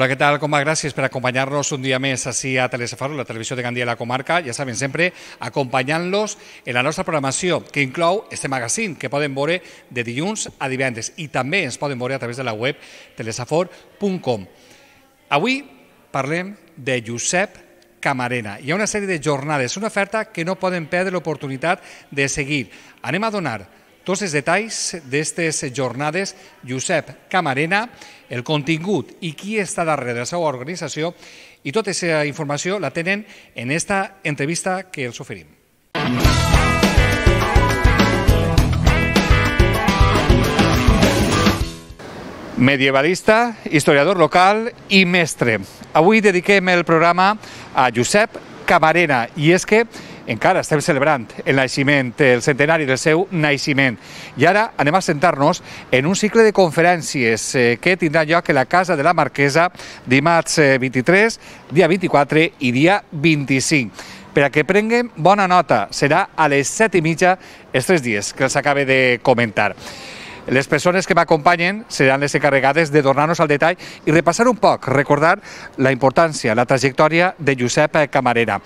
Hola, ¿qué tal? ¿Cómo va? Gracias por acompañarnos un día más así a Telesafar, la televisió de Gandia i la comarca. Ja saben, sempre acompanyant-los en la nostra programació, que inclou este magazine, que poden veure de dilluns a divendres i també ens poden veure a través de la web telesafor.com. Avui parlem de Josep Camarena. Hi ha una sèrie de jornades, una oferta que no poden perdre l'oportunitat de seguir. Anem a donar tots els detalls d'aquestes jornades, Josep Camarena, el contingut i qui està darrere de la seva organització, i tota aquesta informació la tenen en esta entrevista que els oferim. Medievalista, historiador local i mestre. Avui dediquem el programa a Josep Camarena, i és que encara estem celebrant el naixement, el centenari del seu naixement. I ara anem a sentar-nos en un cicle de conferències que tindrà lloc a la Casa de la Marquesa dimarts 23, dia 24 i dia 25. Per a que prenguem bona nota, serà a les 7:30 els 3 dies que els acabe de comentar. Les persones que m'acompanyen seran les encarregades de donar-nos al detall i repassar un poc, recordar la importància, la trajectòria de Josep Camarena.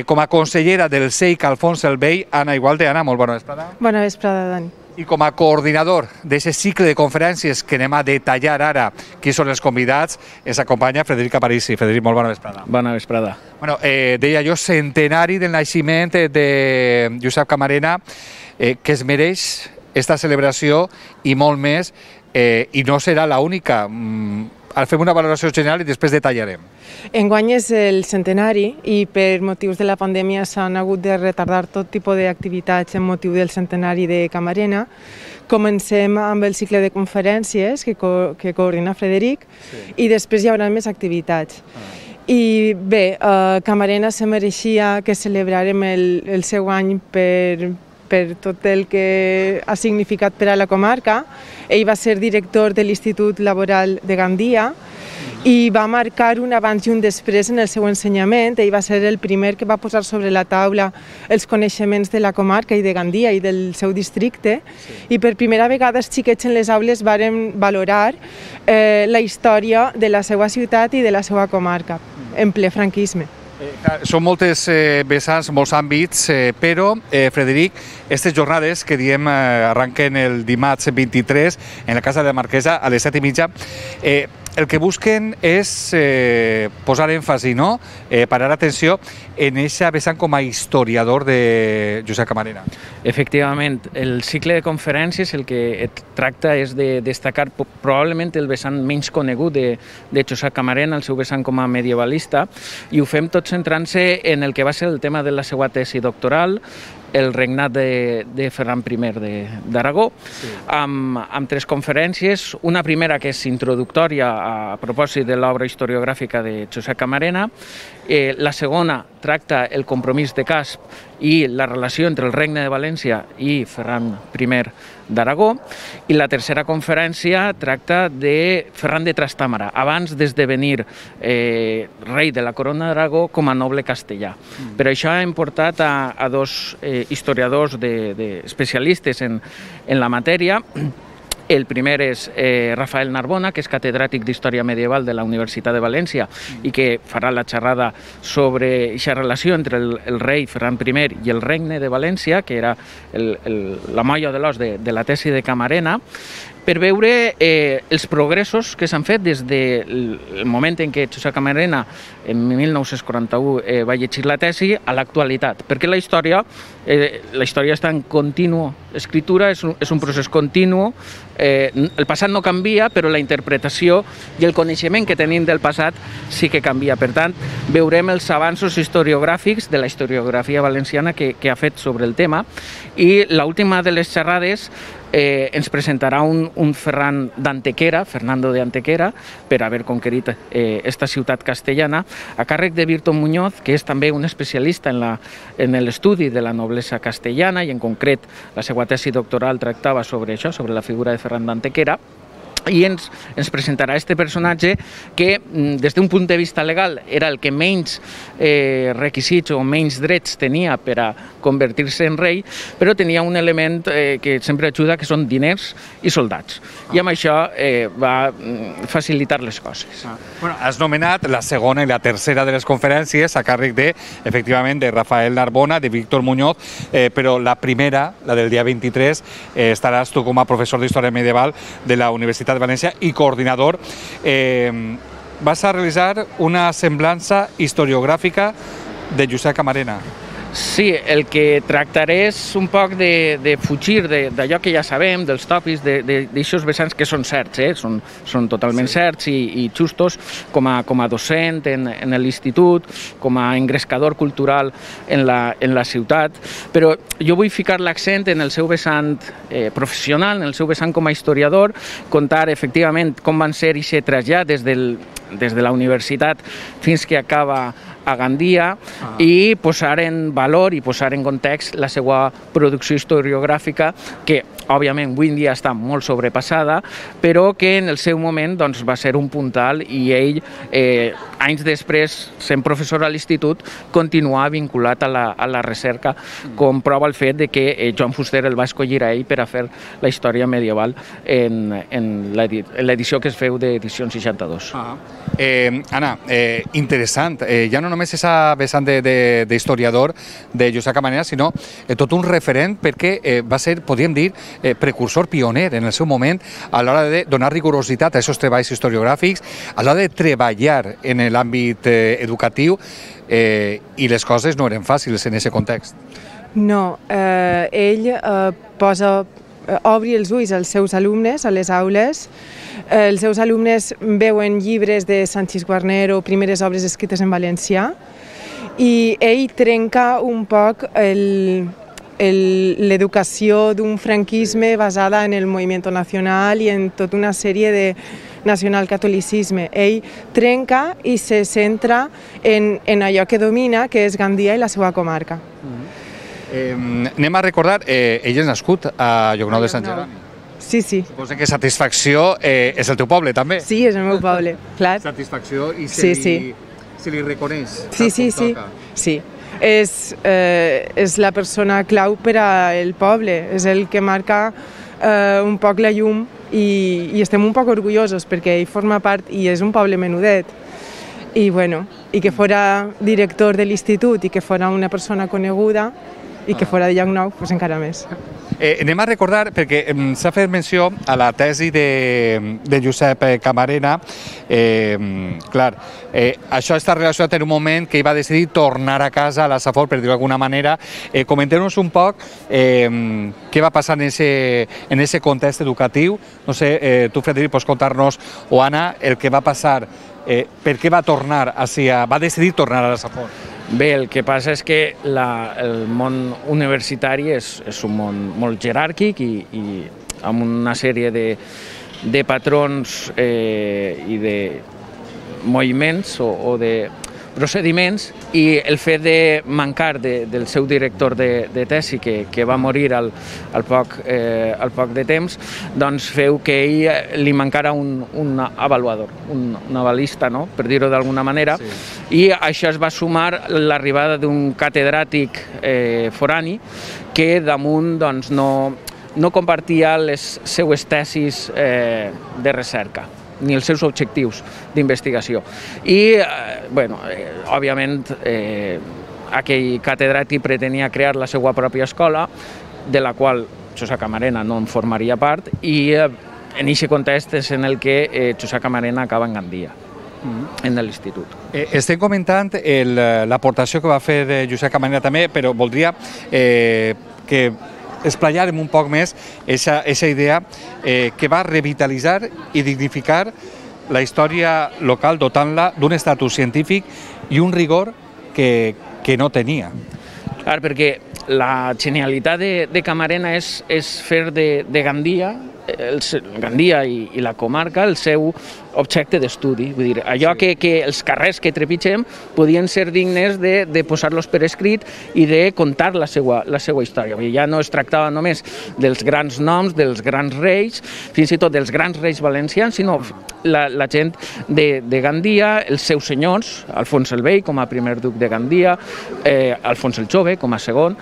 Com a consellera del CEIC Alfons el Vell, Anna Igualde. Anna, molt bona vesprada. Bona vesprada, Dani. I com a coordinador d'aquest cicle de conferències que anem a detallar ara qui són els convidats, ens acompanya Frederic Aparici. Frederic, molt bona vesprada. Bona vesprada. Bueno, deia jo, centenari del naixement de Josep Camarena, que es mereix esta celebració i molt més, i no serà l'única. Fem una valoració general i després detallarem. Enguany és el centenari i per motius de la pandèmia s'han hagut de retardar tot tipus d'activitats en motiu del centenari de Camarena. Comencem amb el cicle de conferències que coordina Frederic i després hi haurà més activitats. I bé, Camarena se mereixia que celebrarem el seu any per tot el que ha significat per a la comarca. Ell va ser director de l'Institut Laboral de Gandia i va marcar un abans i un després en el seu ensenyament. Ell va ser el primer que va posar sobre la taula els coneixements de la comarca i de Gandia i del seu districte, i per primera vegada els xiquets en les aules varen valorar la història de la seva ciutat i de la seva comarca en ple franquisme. Són moltes vessants, molts àmbits, però, Frederic, aquestes jornades que diem arrenquen el dimarts 23 en la Casa de la Marquesa a les 7:30, el que busquen és posar èmfasi, no? Parar atenció en aquesta vessant com a historiador de Josep Camarena. Efectivament, el cicle de conferències el que tracta és de destacar probablement el vessant menys conegut de Josep Camarena, el seu vessant com a medievalista, i ho fem tot centrant-se en el que va ser el tema de la seva tesi doctoral, el regnat de Ferran I d'Aragó, amb 3 conferències. Una primera que és introductòria a propòsit de l'obra historiogràfica de Josep Camarena. La segona tracta el compromís de Casp i la relació entre el Regne de València i Ferran I d'Aragó. I la tercera conferència tracta de Ferran de Trastàmara, abans d'esdevenir rei de la Corona d'Aragó com a noble castellà. Per això hem portat a 2 historiadors especialistes en la matèria. El primer és Rafael Narbona, que és catedràtic d'Història Medieval de la Universitat de València i que farà la xerrada sobre aquesta relació entre el rei Ferran I i el Regne de València, que era la molla de l'os de la tesi de Camarena, per veure els progressos que s'han fet des del moment en què Josep Camarena, en 1941, va llegir la tesi, a l'actualitat. Perquè la història està en contínua escritura, és un procés continu. El passat no canvia, però la interpretació i el coneixement que tenim del passat sí que canvia. Per tant, veurem els avanços historiogràfics de la historiografia valenciana que ha fet sobre el tema. I l'última de les xerrades ens presentarà un Ferran d'Antequera, Fernando de Antequera, per haver conquerit esta ciutat castellana, a càrrec de Virton Muñoz, que és també un especialista en l'estudi de la noblesa castellana, i en concret la seva tesi doctoral tractava sobre això, sobre la figura de Ferran d'Antequera. i ens presentarà este personatge que, des d'un punt de vista legal, era el que menys requisits o menys drets tenia per a convertir-se en rei, però tenia un element que sempre ajuda, que són diners i soldats. I amb això va facilitar les coses. Bueno, has nomenat la segona i la tercera de les conferències a càrrec de, efectivament, de Rafael Narbona, de Víctor Muñoz, però la primera, la del dia 23, estaràs tu com a professor d'Història Medieval de la Universitat de València i coordinador. Vas a realitzar una semblança historiogràfica de Josep Camarena. Sí, el que tractaré és un poc de fugir d'allò que ja sabem, dels tòpics, d'aixòs vessants que són certs, són totalment certs i justos, com a docent en l'institut, com a engrescador cultural en la ciutat, però jo vull ficar l'accent en el seu vessant professional, en el seu vessant com a historiador, contar efectivament com van ser aquest trasllat des de la universitat fins que acaba a Gandia i posar en valor i posar en context la seva producció historiogràfica que, òbviament, avui en dia està molt sobrepassada, però que en el seu moment va ser un puntal i ell, anys després, sent professor a l'institut, continuà vinculat a la recerca, com prova el fet que Joan Fuster el va escollir a ell per a fer la història medieval en l'edició que es feu d'edició 62. Anna, interessant. Ja no només és a vessant d'historiador de Josep Camarena, sinó tot un referent perquè va ser, podríem dir, precursor, pioner en el seu moment a l'hora de donar rigorositat a aquests treballs historiogràfics, a l'hora de treballar en l'àmbit educatiu i les coses no eren fàcils en aquest context. No, ell obri els ulls als seus alumnes a les aules. Els seus alumnes veuen llibres de Sanchis Guarnero, primeres obres escrites en valencià, i ell trenca un poc l'educació d'un franquisme basada en el moviment nacional i en tota una sèrie de nacionalcatolicisme. Ell trenca i se centra en allò que domina, que és Gandia i la seva comarca. Anem a recordar, ell és nascut a Llocnou de Sant Jeroni. Sí, sí. Suposo que Satisfacció és el teu poble, també. Sí, és el meu poble, clar. Satisfacció i se li reconeix. Sí. És la persona clau per al poble, és el que marca un poc la llum i estem un poc orgullosos perquè ell forma part i és un poble menudet. I que fora director de l'institut i que fora una persona coneguda i que fora de Llocnou, doncs encara més. Anem a recordar, perquè s'ha fet menció a la tesi de Josep Camarena. Clar, això està relacionat en un moment que ell va decidir tornar a casa a la Safor, per dir-ho d'alguna manera. Comenteu-nos un poc què va passar en aquest context educatiu. No sé, tu, Frederic, pots contar-nos, o Anna, el que va passar, per què va decidir tornar a la Safor. Bé, el que passa és que el món universitari és un món molt jeràrquic i amb una sèrie de patrons i de moviments o de procediments, i el fet de mancar del seu director de tesi, que va morir al poc de temps, doncs feu que ell li mancara un avaluador, un avalista, no?, per dir-ho d'alguna manera, i això es va sumar l'arribada d'un catedràtic forani que damunt no compartia les seues tesis de recerca ni els seus objectius d'investigació. I, òbviament, aquell catedràtic pretenia crear la seva pròpia escola, de la qual Josep Camarena no en formaria part, i en aquest context és en el que Josep Camarena acaba en Gandia, en l'institut. Estem comentant l'aportació que va fer Josep Camarena també, però voldria que esplaiarem un poc més aquesta idea que va revitalitzar i dignificar la història local, dotant-la d'un estatus científic i un rigor que no tenia. Clar, perquè la genialitat de Camarena és fer de Gandia Gandia i la comarca el seu objecte d'estudi. Vull dir, allò que els carrers que trepitgem podien ser dignes de posar-los per escrit i de contar la seva història. Ja no es tractava només dels grans noms, dels grans reis, fins i tot dels grans reis valencians, sinó la gent de Gandia, els seus senyors, Alfons el Vell com a primer duc de Gandia, Alfons el Jove com a segon,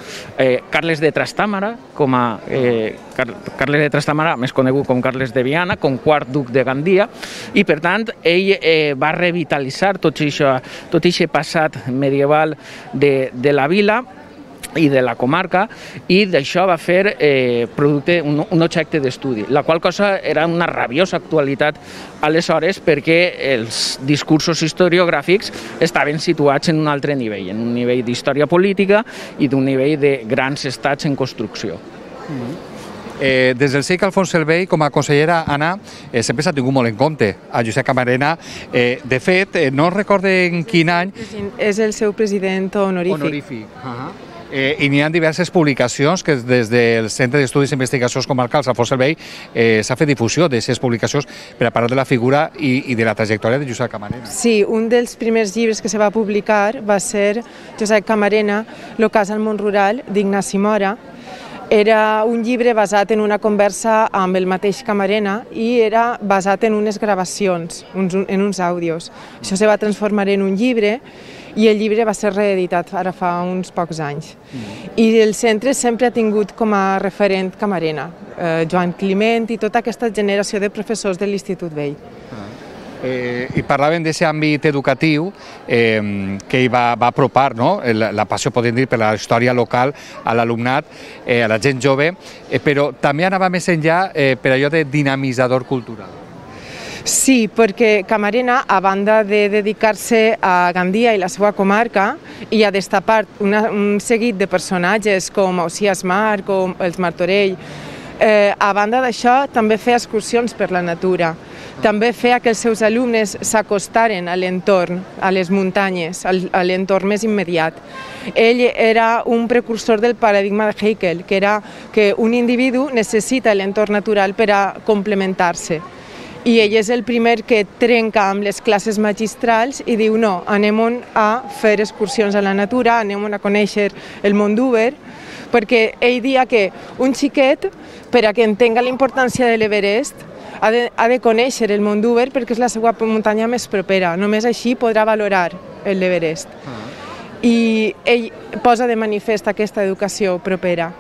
Carles de Trastàmara, Carles de Trastàmara, més conegut com Carles de Viana, com quart duc de Gandia, i per tant ell va revitalitzar tot aquest passat medieval de la vila i de la comarca, i d'això va fer un objecte d'estudi, la qual cosa era una rabiosa actualitat aleshores perquè els discursos historiogràfics estaven situats en un altre nivell, en un nivell d'història política i d'un nivell de grans estats en construcció. Des del segle Alfons el Vell, com a consellera, Anna, sempre s'ha tingut molt en compte a Josep Camarena. De fet, no recordo en quin any... És el seu president honorífic. I n'hi ha diverses publicacions que des del Centre d'Estudis i Investigacions Comarcals Alfons el Vell s'ha fet difusió d'aquestes publicacions per a parlar de la figura i de la trajectòria de Josep Camarena. Sí, un dels primers llibres que se va publicar va ser Josep Camarena, l'ocàs al món rural, d'Ignasi Mora. Era un llibre basat en una conversa amb el mateix Camarena i era basat en unes gravacions, en uns àudios. Això se va transformar en un llibre i el llibre va ser reeditat ara fa uns pocs anys. I el centre sempre ha tingut com a referent Camarena, Joan Climent i tota aquesta generació de professors de l'Institut Vell. I parlaven d'aquest àmbit educatiu que hi va apropar la passió, podem dir, per la història local a l'alumnat, a la gent jove, però també anava més enllà per allò de dinamitzador cultural. Sí, perquè Camarena, a banda de dedicar-se a Gandia i la seva comarca i a destapar un seguit de personatges com Ausiàs Mar, com els Martorell, a banda d'això també feia excursions per la natura. També feia que els seus alumnes s'acostaren a l'entorn, a les muntanyes, a l'entorn més immediat. Ell era un precursor del paradigma de Haeckel, que era que un individu necessita l'entorn natural per a complementar-se. I ell és el primer que trenca amb les classes magistrals i diu no, anem a fer excursions a la natura, anem a conèixer el món d'Uber, perquè ell dia que un xiquet, per a que entenga la importància de l'Everest, ha de conèixer el món d'Uber perquè és la seva muntanya més propera. Només així podrà valorar l'Everest. I ell posa de manifest aquesta educació propera.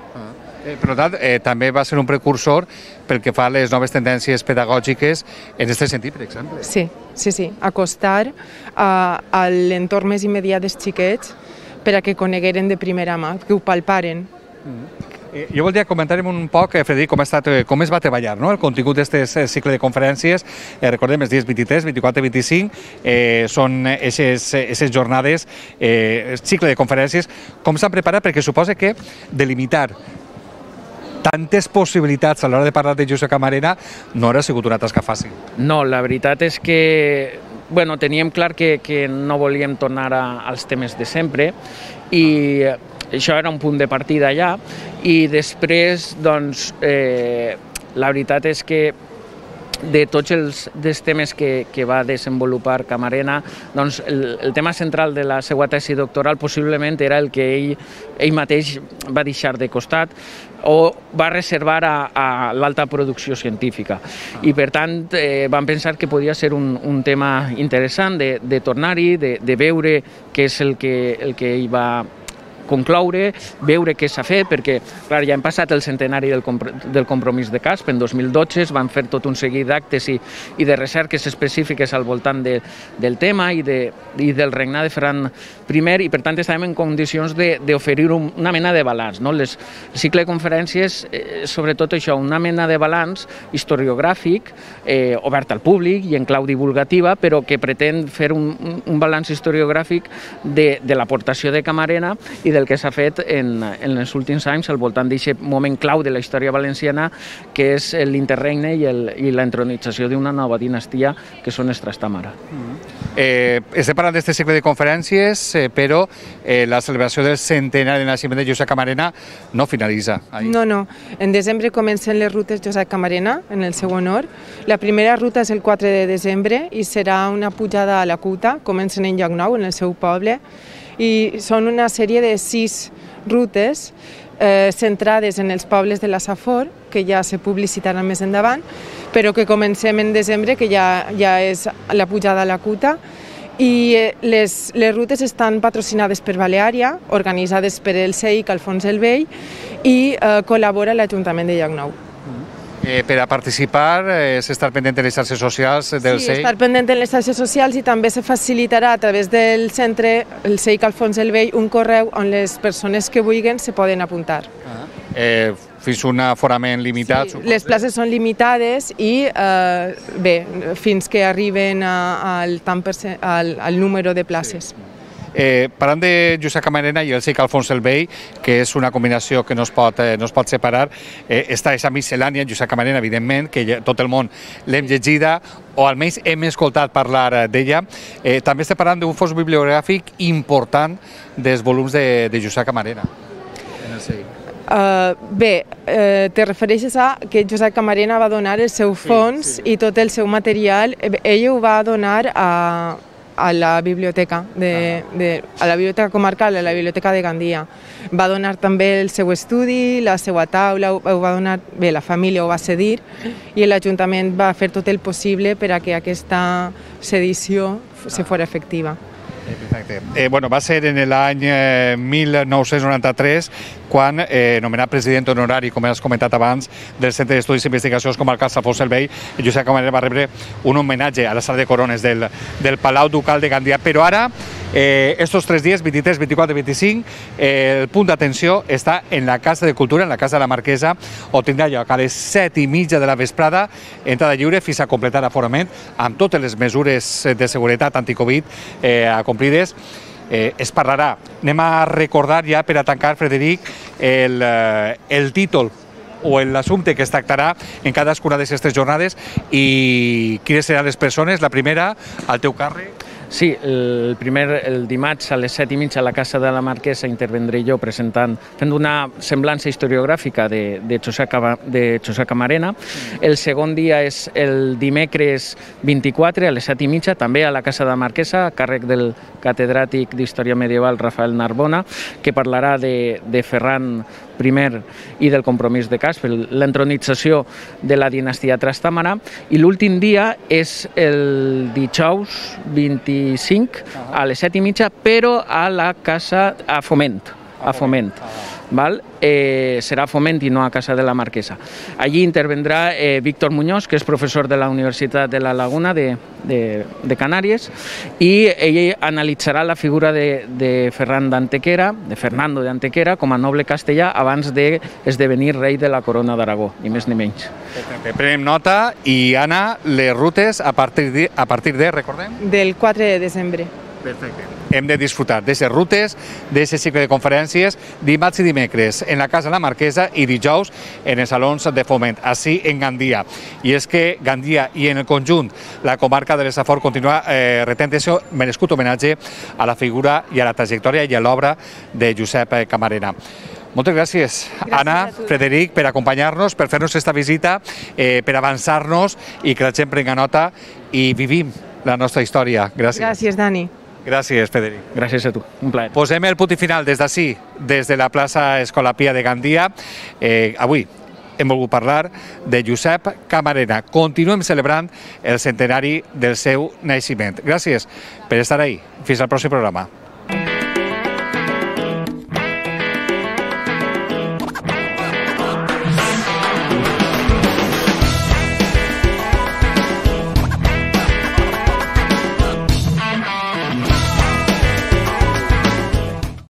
Per tant, també va ser un precursor pel que fa a les noves tendències pedagògiques en aquest sentit, per exemple. Sí. Acostar a l'entorn més immediat dels xiquets per a que conegueren de primera mà, que ho palparen. Jo voldria comentar un poc, Frederic, com es va treballar el contingut d'aquest cicle de conferències. Recordem, els dies 23, 24 i 25 són aquestes jornades, cicle de conferències. Com s'han preparat? Perquè suposa que delimitar tantes possibilitats a l'hora de parlar de Josep Camarena no haurà sigut una tasca fàcil. No, la veritat és que teníem clar que no volíem tornar als temes de sempre i això era un punt de partida allà, i després, doncs, la veritat és que de tots els temes que va desenvolupar Camarena, doncs el tema central de la seva tesi doctoral possiblement era el que ell mateix va deixar de costat o va reservar a l'alta producció científica. I per tant vam pensar que podia ser un tema interessant de tornar-hi, de veure què és el que ell va concloure, veure què s'ha fet, perquè clar, ja hem passat el centenari del compromís de Casp, en 2012 es van fer tot un seguit d'actes i de recerques específiques al voltant del tema i del regnat de Ferran I, i per tant estàvem en condicions d'oferir una mena de balanç. El cicle de conferències, sobretot això, una mena de balanç historiogràfic, obert al públic i en clau divulgativa, però que pretén fer un balanç historiogràfic de l'aportació de Camarena i del que s'ha fet en els últims anys al voltant d'aquest moment clau de la història valenciana, que és l'interregne i la entronització d'una nova dinastia, que són els Trastàmara. Estem parlant d'aquest cicle de conferències, però la celebració del centenari de naixement de Josep Camarena no finalitza. No. En desembre comencen les rutes Josep Camarena, en el seu honor. La primera ruta és el 4 de desembre i serà una pujada a la Cuta, comencen en Llocnou, en el seu poble, i són una sèrie de 6 rutes centrades en els pobles de la Safor, que ja se publicitaran més endavant, però que comencem en desembre, que ja és la pujada a la Cuta, i les rutes estan patrocinades per Baleària, organitzades per el CEIC Alfons el Vell, i col·labora l'Ajuntament de Llocnou. Per a participar s'està pendent de les xarxes socials del CEIC? Sí, estar pendent de les xarxes socials i també se facilitarà a través del centre, el CEIC Alfons el Vell, un correu on les persones que vulguin se poden apuntar. Fins un aforament limitat? Sí, les places són limitades i fins que arriben al número de places. Parlant de Josep Camarena i el CEIC Alfons el Vell, que és una combinació que no es pot separar, està aquesta miscel·lània, Josep Camarena, evidentment, que tot el món l'hem llegida, o almenys hem escoltat parlar d'ella. També estem parlant d'un fons bibliogràfic important dels volums de Josep Camarena en el CEIC. Te refereixes a que Josep Camarena va donar el seu fons i tot el seu material, ell ho va donar a la biblioteca, a la biblioteca comarcal, a la biblioteca de Gandia. Va donar també el seu estudi, la seva taula, ho va donar, la família ho va cedir i l'Ajuntament va fer tot el possible per a que aquesta sedició se fos efectiva. Perfecte. Va ser en l'any 1993 quan, nomenat president honorari, com has comentat abans, del Centre d'Estudis i Investigacions Comarcals Alfons el Vell, Josep Camarena va rebre un homenatge a la sala de corones del Palau Ducal de Gandia. Però ara, estos 3 dies, 23, 24 i 25, el punt d'atenció està en la Casa de Cultura, en la Casa de la Marquesa, on tindrà lloc a les 7:30 de la vesprada, entrada lliure fins a completar l'aforament, amb totes les mesures de seguretat anticovid complides. Es parlarà. Anem a recordar ja, per a tancar, Frederic, el títol o l'assumpte que es tractarà en cadascuna d'aquestes jornades i quines seran les persones. La primera, al teu càrrec. Sí, el dimarts a les 7:30 a la Casa de la Marquesa intervendré jo fent una semblança historiogràfica de Josep Camarena. El segon dia és el dimecres 24 a les 7:30, també a la Casa de la Marquesa, a càrrec del catedràtic d'Història Medieval Rafael Narbona, que parlarà de Ferran I i del compromís de Casp, l'entronització de la dinastia Trastàmara, i l'últim dia és el dijous 25 a les 7:30, però a la casa a Foment. Serà a Foment i no a Casa de la Marquesa. Allí intervendrà Víctor Muñoz, que és professor de la Universitat de la Laguna de Canàries, i ell analitzarà la figura de Fernando d'Antequera com a noble castellà abans d'esdevenir rei de la corona d'Aragó, ni més ni menys. Prenem nota i, Anna, les rutes a partir de, recordem? Del 4 de desembre. Perfecte. Hem de disfrutar d'aquestes rutes, d'aquest cicle de conferències, dimarts i dimecres en la Casa de la Marquesa i dijous en els salons de Foment, així en Gandia. I és que Gandia i en el conjunt la comarca de l'Safor continua retent aquest merescut homenatge a la figura i a la trajectòria i a l'obra de Josep Camarena. Moltes gràcies, Anna, Frederic, per acompanyar-nos, per fer-nos aquesta visita, per avançar-nos i que la gent prenga nota i vivim la nostra història. Gràcies. Gràcies, Dani. Gràcies, Frederic. Gràcies a tu, un plaer. Posem el punt i final des d'ací, des de la plaça Escola Pia de Gandia. Avui hem volgut parlar de Josep Camarena. Continuem celebrant el centenari del seu naixement. Gràcies per estar ahí. Fins al pròxim programa.